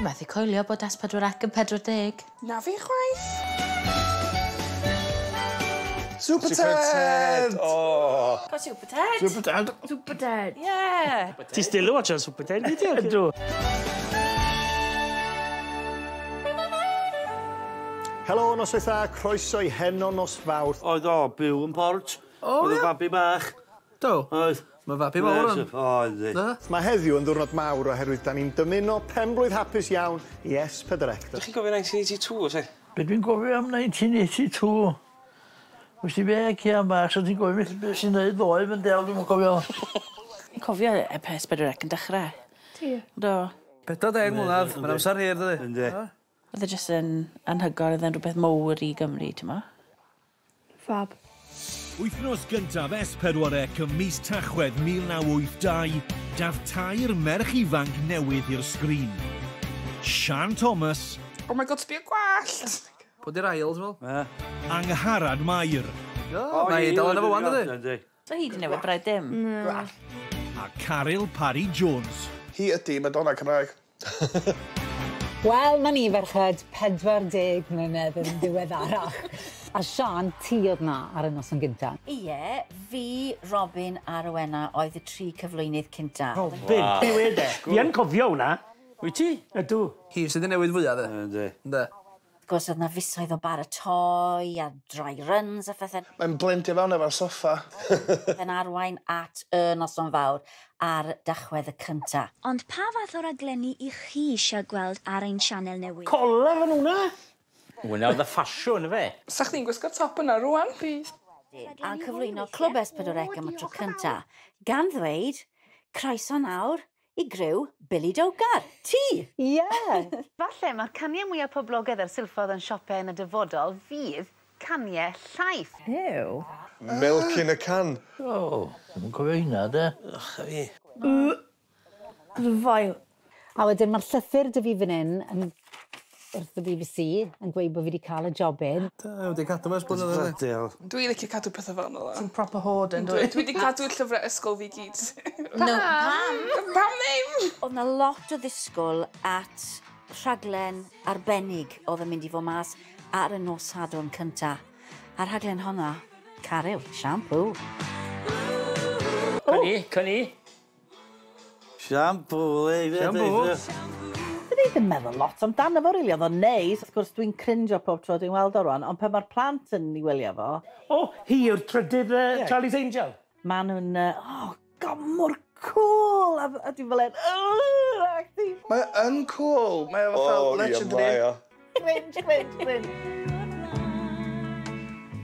Dwi'n methu coelio bod S4C yn 40. Na fi chwaith. Super Ted! Oh. Go Super Ted! Super Ted! Super Ted, yeah! Ti still yn watchan Super Ted, nid ti? Ydw. Helo, noswaith dda, croeso i Heno nos Fawrth. Oedd o, byw yn Port. O, Oedd y babi bach. Do? Oedd. Mae fabi mawr yn. Oedd. Mae heddiw yn ddiwrnod mawr oherwydd da ni'n dymuno penblwydd hapus iawn i S4C. Dych chi'n gofio 1982, oes e? Be dwi'n gofio am 1982? Wys ti be, Cian bach, so ti'n gofio beth sy'n neud ddoe, fy'n del, dwi'n cofio. Fi'n cofio y S4C yn dechrau. Ti? Do. 40 mlynedd, mae'n amser hir, dydi? Yndi. Oedd e jyst yn anhygoel, oedd e'n rhywbeth mowr i Gymru, ti'n mo? Fab. Wythnos gyntaf S4C ym mis Tachwedd 1982, daf tair merch ifanc newydd i'r sgrin. Sian Thomas. Oh my god, sbio gwallt! Pwy di'r ail, ti'n meddwl? Angharad Mair. O, mae hi dal yn efo wan, dydi? So hi di newid braidd dim. A Caryl Parry Jones. Hi ydi Madonna Cymraeg. Wel, na ni ferched 40 mlynedd yn ddiweddarach. A Sian, ti oedd na ar y noson gynta. Ie, fi, Robin a Rowena oedd y tri cyflwynydd cynta. Robin, be wed e? Fi yn cofio hwnna. Wyt ti? Ydw. Hi sydd wedi newid fwyaf, de? Yndi. Yndi. Wrth gwrs, oedd na fisoedd o baratoi a dry runs a phethau. Mae'n blendio fewn efo'r soffa. Yn arwain at y noson fawr ar Dachwedd y cynta. Ond pa fath o raglenni i chi eisiau gweld ar ein sianel newydd? Cola fan hwnna! Hwnna oedd y ffasiwn, fe? Sa chdi'n gwisgo'r top yna rwan? Bydd. A'n cyflwyno Clwb S4C am y tro cynta, gan ddweud, croeso nawr i griw Billy Dogar. Ti! Ie! Falle mae'r caniau mwyaf poblogaidd ar silffoedd yn siopau yn y dyfodol fydd caniau llaeth. Ew. Milk in a can. O, dwi'n cofio hynna, de. Ych a fi. Vile. A wedyn mae'r llythyr dy fi fan hyn yn wrth y BBC yn gweud bod fi wedi cael y jobyn. Da, wedi cadw fe ers blynyddoedd. Dwi'n licio cadw pethau fel yna. Ti'n proper hoarder, Dwi wedi cadw llyfrau ysgol fi gyd. No, pam? Pam ddim? Oedd na lot o ddisgwyl at rhaglen arbennig oedd yn mynd i fod mas ar y nos Sadwrn cynta. A'r rhaglen honna, Caryl, shampoo. Cynni, cynni. Shampoo, le. Shampoo. Dwi ddim yn meddwl lot amdano fo, rili. Oedd o'n neis. Wrth gwrs, dwi'n crinjo pob tro dwi'n weld o rwan, ond pan mae'r plant yn ei wylio fo... O, hi yw'r trydydd Charlie's Angel. Maen nhw'n... Oh, god, mor cool! A dwi'n fel un... Acti. Mae yn cool. Mae o fatha legendary. Cringe, cringe, cringe.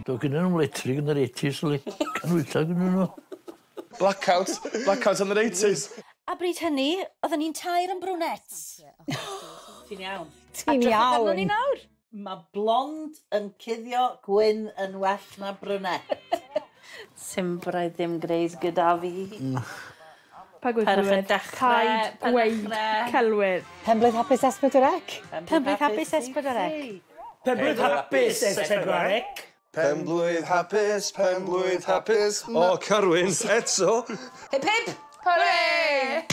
Do gyda nhw'n letrig yn yr 80s, li. Canwylla gyda nhw. Blackout. Blackout yn yr 80s. A bryd hynny, oedden ni'n tair yn brunettes. Ti'n iawn. Ti'n iawn. ni nawr. Mae blond yn cuddio gwyn yn well na brunette. Sim braidd ddim gwneud gyda fi. Pa Perch y gweud? dechrau, Paid gweud celwydd. Penblwydd hapus S4C. Penblwydd hapus S4C. Penblwydd hapus S4C. Penblwydd hapus, penblwydd hapus. O, Carwyn, eto. Hip hip! Hooray!